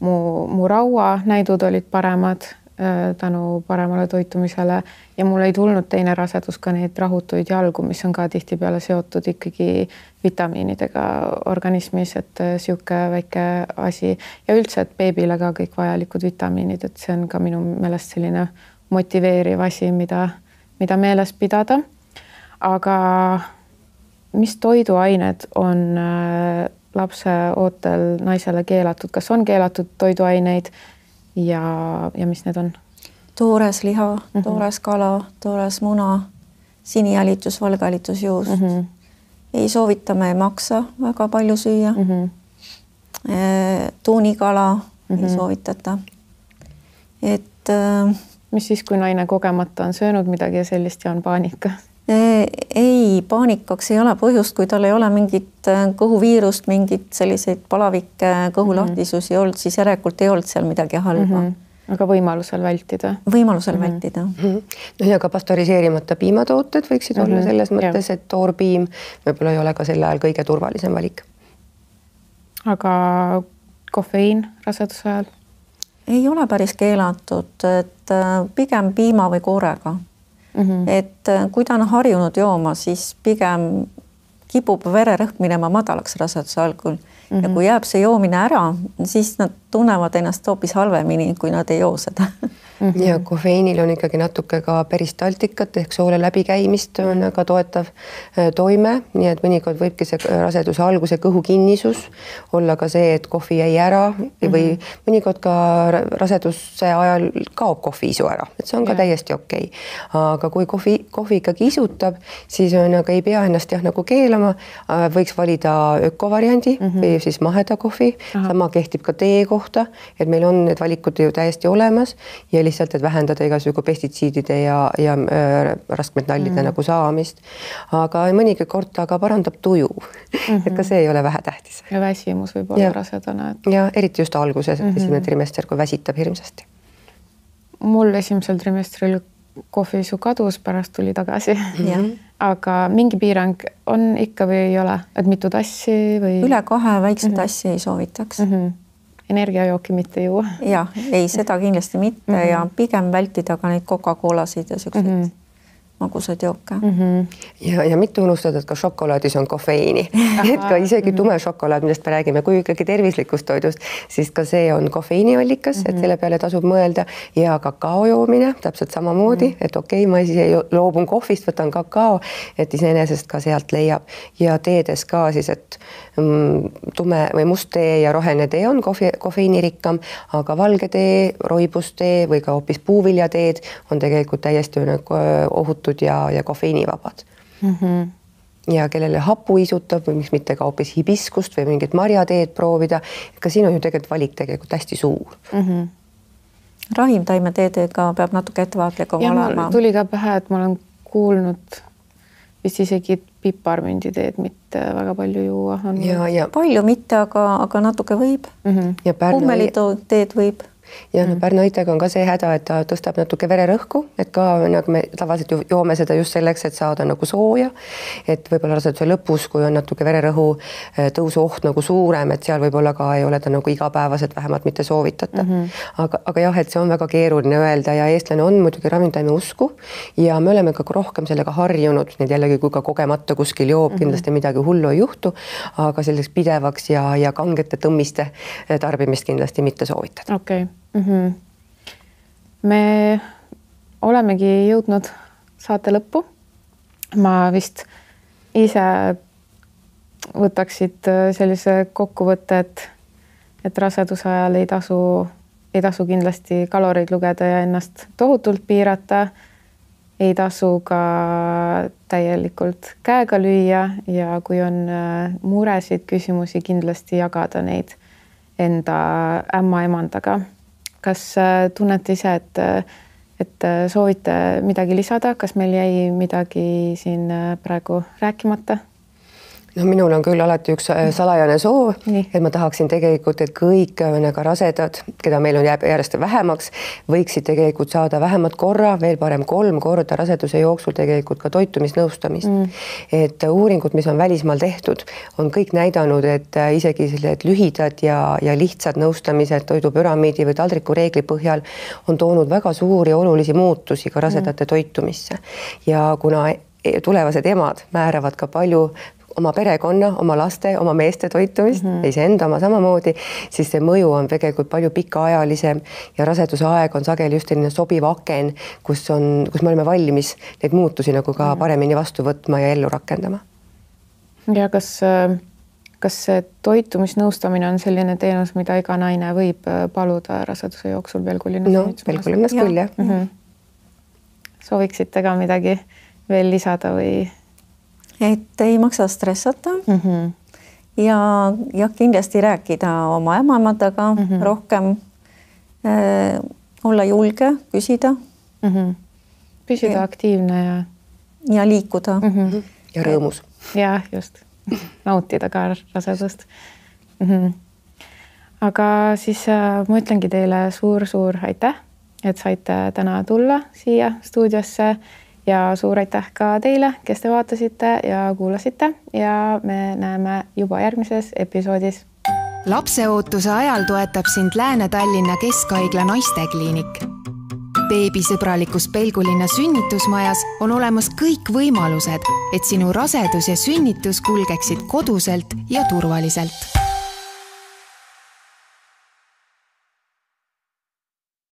mu, mu rauanäidud olid paremad tänu paremale toitumisele ja mul ei tulnud teine rasedus ka neid rahutuid jalgu, mis on ka tihtipeale seotud ikkagi vitamiinidega organismis, et sihuke väike asi ja üldse, et beebile ka kõik vajalikud vitamiinid, et see on ka minu meelest selline motiveeriv asi, mida, mida meeles pidada. Aga mis toiduained on lapse ootel naisele keelatud, kas on keelatud toiduaineid ja, ja mis need on? Toores liha, mm-hmm. toores kala, toores muna, sinijälitus, valgalitusjuus mm-hmm. ei soovita me maksa väga palju süüa mm. -hmm. tuunikala mm -hmm. ei soovitata. et mis siis, kui naine kogemata on söönud midagi ja sellist ja on paanika? ei, paanikaks ei ole põhjust, kui tal ei ole mingit kõhuviirust, mingit selliseid palavikke kõhulahtisusi olnud, siis järelikult ei olnud seal midagi halba mm. -hmm. aga võimalusel vältida? Võimalusel mm -hmm. vältida. Mm -hmm. no ja ka pastöriseerimata piimatooted võiksid mm -hmm. olla selles mõttes, et toorpiim võib-olla ei ole ka sel ajal kõige turvalisem valik. aga kofeiin raseduse ajal? ei ole päris keelatud, et pigem piima või koorega mm. -hmm. et kui ta on harjunud jooma, siis pigem kipub vererõhk minema madalaks raseduse algul mm -hmm. ja kui jääb see joomine ära, siis nad tunnevad ennast hoopis halvemini, kui nad ei joo seda mm. -hmm. ja kofeiinil on ikkagi natuke ka peristaltikat ehk soole läbikäimist on väga toetav toime, nii et mõnikord võibki see raseduse alguse kõhukinnisus olla ka see, et kohvi jäi ära mm -hmm. või mõnikord ka raseduse ajal kaob kohviisu ära, et see on ka ja. täiesti okei okay. aga kui kohvi, kohvi ikkagi isutab, siis on, aga ei pea ennast jah nagu keelama, võiks valida ökovariandi mm -hmm. või siis maheda kohvi, sama kehtib ka tee kohta, et meil on need valikud ju täiesti olemas ja lihtsalt, et vähendada igasugu pestitsiidide ja, ja äh, raskmetallide mm. nagu saamist. aga mõnigi kord ta ka parandab tuju mm. -hmm. et ka see ei ole vähetähtis. ja väsimus võib olla rasedana. Et... ja eriti just alguses mm, -hmm. esimene trimester, kui väsitab hirmsasti. mul esimesel trimestril kohviisu kadus, pärast tuli tagasi mm. -hmm. aga mingi piirang on ikka või ei ole, et mitu tassi või? üle kahe väikse mm -hmm. tassi ei soovitaks mm. -hmm. energiajooki mitte juua. jah, ei, seda kindlasti mitte mm -hmm. ja pigem vältida ka neid Coca-Colasid ja siukseid mm -hmm. magusaid jooke mm. -hmm. ja, ja mitte unustada, et ka šokolaadis on kofeiini, et ka isegi mm -hmm. tume šokolaad, millest me räägime, kui ikkagi tervislikust toidust, siis ka see on kofeiiniallikas mm, -hmm. et selle peale tasub mõelda ja kakao joomine täpselt samamoodi mm, -hmm. et okei okay,, ma siis loobun kohvist, võtan kakao, et iseenesest ka sealt leiab ja teedes ka siis, et mm, tume või must tee ja roheline tee on kohvi, kofeiinirikkam, aga valge tee, roibustee või ka hoopis puuviljateed on tegelikult täiesti ohutud ja, ja kofeiinivabad mm. -hmm. ja kellele hapu isutab või miks mitte ka hoopis hibiskust või mingit marjateed proovida, ka siin on ju tegelikult valik tegelikult hästi suur mm. -hmm. ravimtaimeteedega peab natuke ettevaatlikum olema. tuli ka pähe, et ma olen kuulnud vist isegi piparmünditeed mitte väga palju juua. ja, ja palju mitte, aga, aga natuke võib mm. -hmm. ja kummeliteed võib. ja no pärnaitega on ka see häda, et ta tõstab natuke vererõhku, et ka nagu me tavaliselt ju joome seda just selleks, et saada nagu sooja, et võib-olla raseduse lõpus, kui on natuke vererõhu tõusu oht nagu suurem, et seal võib-olla ka ei ole ta nagu igapäevaselt vähemalt mitte soovitatav mm. -hmm. aga, aga jah, et see on väga keeruline öelda ja eestlane on muidugi ravimtaime usku ja me oleme ka rohkem sellega harjunud, nii et jällegi, kui ka kogemata kuskil joob mm, -hmm. kindlasti midagi hullu ei juhtu, aga selliseks pidevaks ja, ja kangete tõmmiste tarbimist kindlasti mitte soovitada. okei okay. Mm -hmm. me olemegi jõudnud saate lõppu. ma vist ise võtaksid sellise kokkuvõtte, et, et raseduse ajal ei tasu, ei tasu kindlasti kaloreid lugeda ja ennast tohutult piirata. ei tasu ka täielikult käega lüüa ja kui on muresid, küsimusi, kindlasti jagada neid enda ämmaemandaga. Kas tunnete ise, et, et soovite midagi lisada, kas meil jäi midagi siin praegu rääkimata? No minul on küll alati üks salajane soov, Nii. et ma tahaksin tegelikult, et kõik nagu rasedad, keda meil on jääb järjest vähemaks, võiksid tegelikult saada vähemalt korra, veel parem kolm korda raseduse jooksul tegelikult ka toitumisnõustamist. Mm. Et uuringud, mis on välismaal tehtud, on kõik näidanud, et isegi sellised lühidad ja, ja lihtsad nõustamised toidupüramiidi või taldriku reegli põhjal on toonud väga suuri olulisi muutusi ka rasedate mm. toitumisse. Ja kuna tulevased emad määravad ka palju oma perekonna, oma laste, oma meeste toitumist mm, -hmm. iseenda oma samamoodi, siis see mõju on tegelikult palju pikaajalisem ja raseduse aeg on sageli just selline sobiv aken, kus on, kus me oleme valmis neid muutusi nagu ka paremini vastu võtma ja ellu rakendama. Ja kas, kas see toitumisnõustamine on selline teenus, mida iga naine võib paluda raseduse jooksul Pelgulinnas? No, Pelgulinnas küll, jah. Mm -hmm. Sooviksite ka midagi veel lisada või? et ei maksa stressata mm. -hmm. ja, ja kindlasti rääkida oma ämmaemadega mm -hmm. rohkem äh,, olla julge, küsida mm. -hmm. Püsida ja. aktiivne ja ja liikuda mm. -hmm. ja rõõmus. Ja just, nautida ka rasedust. Mm -hmm. Aga siis äh, ma ütlengi teile suur-suur aitäh, et saite täna tulla siia stuudiosse ja suur aitäh ka teile, kes te vaatasite ja kuulasite ja me näeme juba järgmises episoodis. Lapseootuse ajal toetab sind Lääne-Tallinna Keskhaigla naistekliinik. Beebisõbralikus Pelgulinna sünnitusmajas on olemas kõik võimalused, et sinu rasedus ja sünnitus kulgeksid koduselt ja turvaliselt.